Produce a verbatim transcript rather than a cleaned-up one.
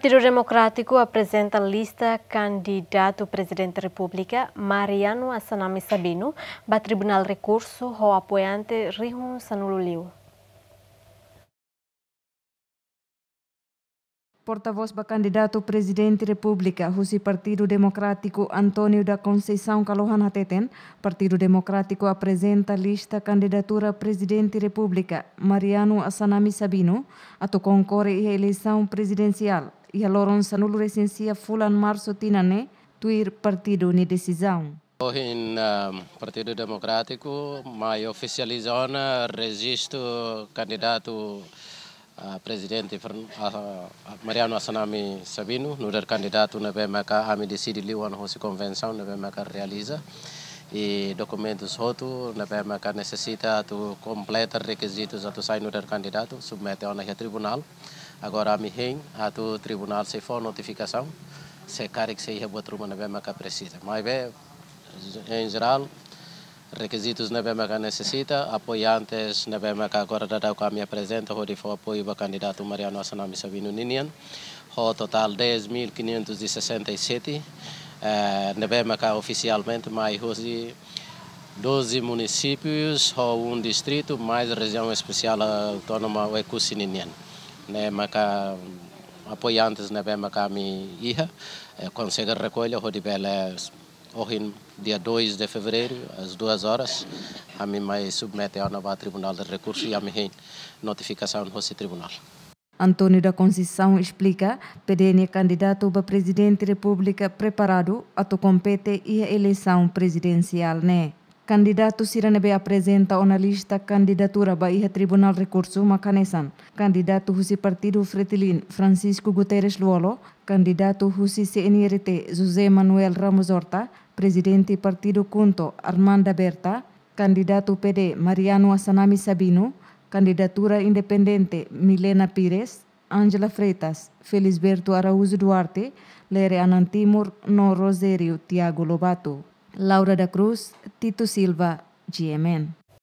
Partidu Demokrátiku aprezenta lista kandidatu Prezidente Repúblika, Mariano Assanami Sabino, ba Tribunál Rekursu ho apoiante rihun sanulu liu. Portavós ba kandidatu Prezidente Repúblika husi Partidu Demokrátiku, António da Conceição Kalohan, hateten, Partidu Demokrátiku aprezenta lista kandidatura Prezidente Repúblika, Mariano Assanami Sabino, atu konkorre iha eleisaun prezidensiál iha loron sanulu-resin-sia fulan Marsu tinan ne'e, tuir partidu nia desizaun. Ohin, ah, Partidu Demokrátiku mai ofisializa ona rejistu kandidatu, ah, Prezidente Fern-, ah, Mariano Assanami Sabino, nu'udar kandidatu ne'ebé maka ami deside liu ona hosi konvensaun ne'ebé maka realiza. I dokumentus hotu ne'ebé maka nesesita atu kompleta rekizitus atu sai nu'udar kandidatu, submete ona iha tribunál. Agora ami hein atu tribunál sei fó notifikasaun se karik sei iha buat ruma ne'ebé maka presiza. Maibé, em geral, rekizitus ne'ebé maka nesesita, apoiantes ne'ebé maka agora daudaun ami aprezenta hodi fó apoiu ba kandidatu Mariano Assanami Sabino ninian, ho totál dez mil quinhentos e sessenta e sete, eh, ne'ebé maka ofisialmente mai hosi doze munisípius ho um distrito, mais Rejiaun Espesiál Autónoma Oekusi ninian. Ne'e maka apoiantes ne'ebé maka ami iha, eh, konsege rekolla hodi bele ohin, dia dois de fevereiro, às duas horas, ami mai submete ona ba Tribunál de Rekursu i ami hein notifikasaun hosi tribunál. António da Conceição esplika, P D nia kandidatu ba Prezidente Repúblika preparadu atu kompete iha eleisaun prezidensiál ne'e. Kandidatu sira ne'ebé aprezenta ona lista kandidatura ba iha Tribunál Rekursu mak hanesan kandidatu husi Partidu Fretilin, Francisco Guterres Lú-Olo, kandidatu husi C N R T, José Manuel Ramos Horta, Prezidente Partidu KHUNTO, Armanda Berta, kandidatu P D, Mariano Assanami Sabino, kandidatura independente, Milena Pires, Ángela Freitas, Felisberto Araújo Duarte, Lere Anan Timur, no Rogério Tiago Lobato. Laura da Cruz, Tito Silva, G M N.